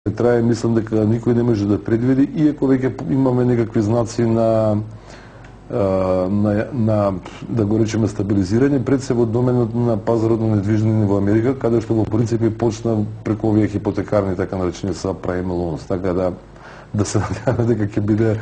трае, мислам дека никој не може да предвиди, иако веќе имаме некакви знаци на да го речеме стабилизирање, пред се во доменот на пазарот на недвижнини во Америка, каде што во принцип почна преку овие хипотекарни така наречени subprime loans, така да се надеваме дека ќе биде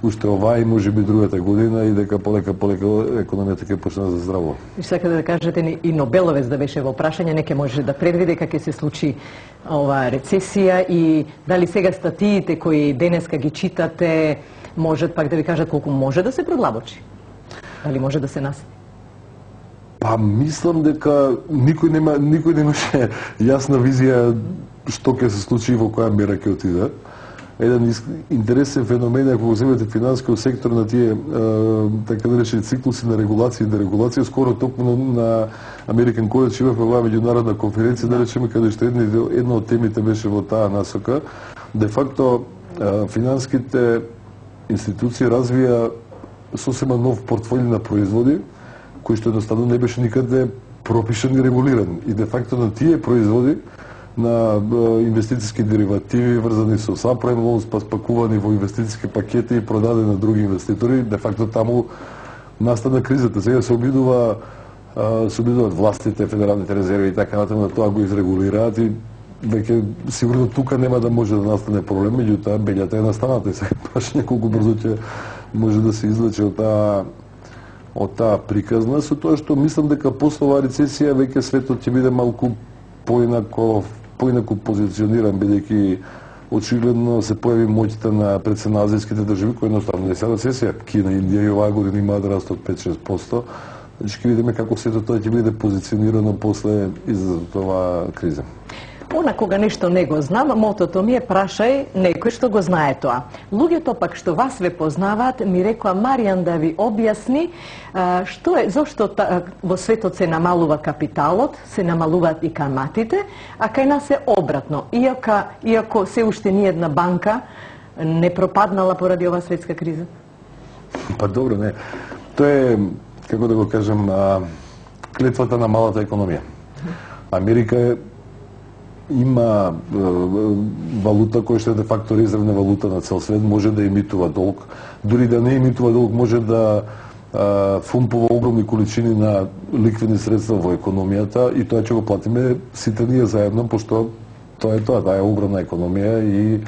уште оваа и можеби другата година и дека полека економијата ќе почне да заздравува. И сакате да кажете и Нобеловец да беше во прашање, не ќе може да предвиди како ќе се случи оваа рецесија и дали сега статиите кои денеска ги читате можат пак да ви кажат колку може да се продлабочи? Дали може да се наси? Па мислам дека никој немаше јасна визија што ќе се случи и во која мера ќе отиде. Еден интересен феномен е кога земете финансискиот сектор на тие така наречени циклуси на регулација и дерегулација, скоро токму на American College имавме оваа меѓународна конференција, да речеме, каде што една од темите беше во таа насока. Де факто финансиските институции развија сосема нов портфолио на производи, кој што едноставно не беше никаде пропишан и регулиран. И де факто на тие производи, на инвестициски деривативи врзани со subprime loans, па спакувани во инвестициски пакети и продадени на други инвеститори, де факто таму настана кризата. Сега се обидуваат властите, федералните резерви и така натаму да тоа го изрегулираат и веќе сигурно тука нема да може да настане проблем, меѓутоа бељата е настаната и сега прашање колку брзо ќе може да се извлече од таа приказна, со тоа што мислам дека после оваа рецесија веќе светот ќе биде малку поинаку позициониран, бидејќи очигледно се појави моќта на предсенаазијските држави кои едноставно не се рецесија. Кина и Индија и оваа година имаат раст од 5-6%. Значи ќе видиме како сето тоа ќе биде позиционирано после изазовот оваа криза. Она кога нешто не го знам, мотото ми е прашај некој што го знае тоа. Луѓето пак што вас ве познаваат ми рекоа Маријан да ви објасни што е, зошто во светот се намалува капиталот, се намалуваат и каматите, а кај нас е обратно. Иако се уште ни една банка не пропаднала поради оваа светска криза. Па добро, не. Тоа е, како да го кажем, клетвата на малата економија. Америка има валута која што е де факто резервна валута на цел свет, може да емитува долг, дури да не емитува долг, може да фумпува огромни количини на ликвидни средства во економијата и тоа ќе го платиме сите ние заедно, пошто тоа е огромна економија и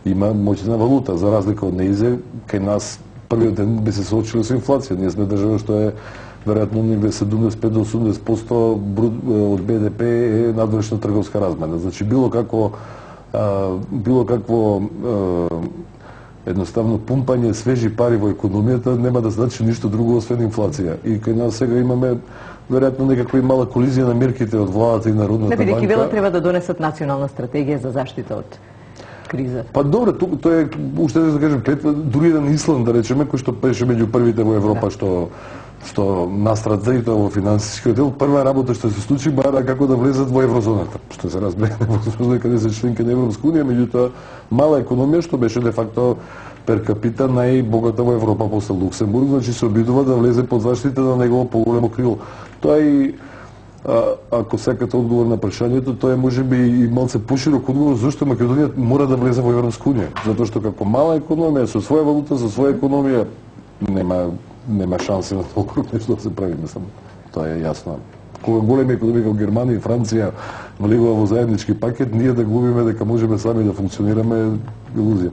има моќна валута. За разлика од неизе, кај нас првиот ден би се соочили со инфлација. Ние сме држава што е веројатно негде 75 до 80% од БДП е надвршна трговска размена. Значи било какво едноставно пумпање свежи пари во економијата нема да значи ништо друго освен инфлација. И кај нас сега имаме веројатно некаква мала колизија на мерките од владата и Народната банка. Бидејќи велат треба да донесат национална стратегија за заштита од криза. Па добро, тоа е уште да кажем клетва, дури еден Исланд да речеме кој што беше меѓу првите во Европа што настрада и тоа во финансискиот дел, прва работа што се случи бара како да влезат во еврозоната, што се разбере невозможно каде се членка на Европска унија, меѓутоа мала економија што беше де факто пер капита најбогата во Европа после Луксембург, значи се обидува да влезе под заштита на негово поголемо крило. Тоа и ако сакате одговор на прашањето, тоа е можеби и малце поширок одговор зашто Македонија мора да влезе во Европска унија, затоа што како мала економија со своја валута, со своја економија нема шанси на толку нешто да се прави, мислам. Тоа е јасно. Кога големи економии како Германија и Франција влегува во заеднички пакет, ние да губиме дека можеме сами да функционираме е илузија.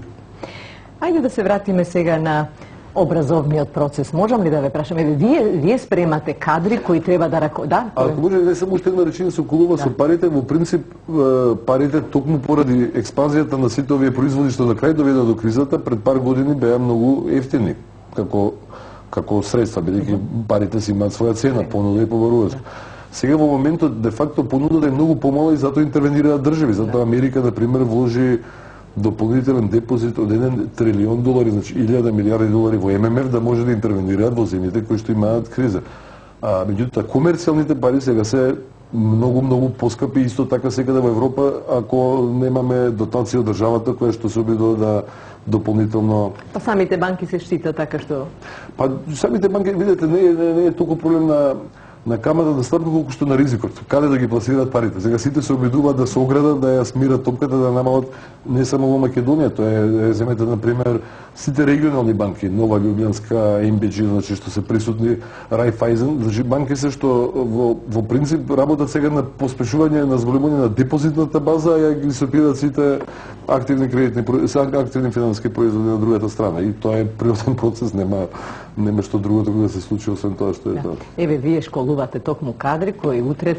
Ајде да се вратиме сега на образовниот процес. Можам ли да ве прашам? Вие спремате кадри кои треба да Ако може не само уште една реченица со околува со парите, во принцип парите токму поради експанзијата на сите овие производи што на крај доведе до кризата, пред пар години беа многу ефтини како средства, бидејќи парите си имаат своја цена, понуда и побарувањето. Сега во моментот де факто понудата е многу помала и затоа интервенираат држави. Затоа Америка на пример вложи дополнителен депозит од $1 трилион, значи 1000 милиарди долари во ММФ да може да интервенираат во земјите кои што имаат криза. Меѓутоа комерцијалните пари сега се многу поскапи, исто така секаде во Европа, ако немаме дотација од државата која што се обидува да дополнително. Па самите банки се штитат така што. Па самите банки, видете, не е толку проблем на каматата стапка колку што на ризикот, каде да ги пласираат парите. Сега сите се обидуваат да се оградат, да ја смират топката, да намалат не само во Македонија, тоа е, земете на пример сите регионални банки, Нова Љубљанска, МБГ, значи што се присутни, Райфајзен, значи банки се што во принцип работат сега на поспешување на зголемување на депозитната база, ја ги сопираат сите активни активни финансиски производи на другата страна, и тоа е природен процес, нема што друго да се случи освен тоа што е тоа. Еве, вие школувате токму кадри кои утре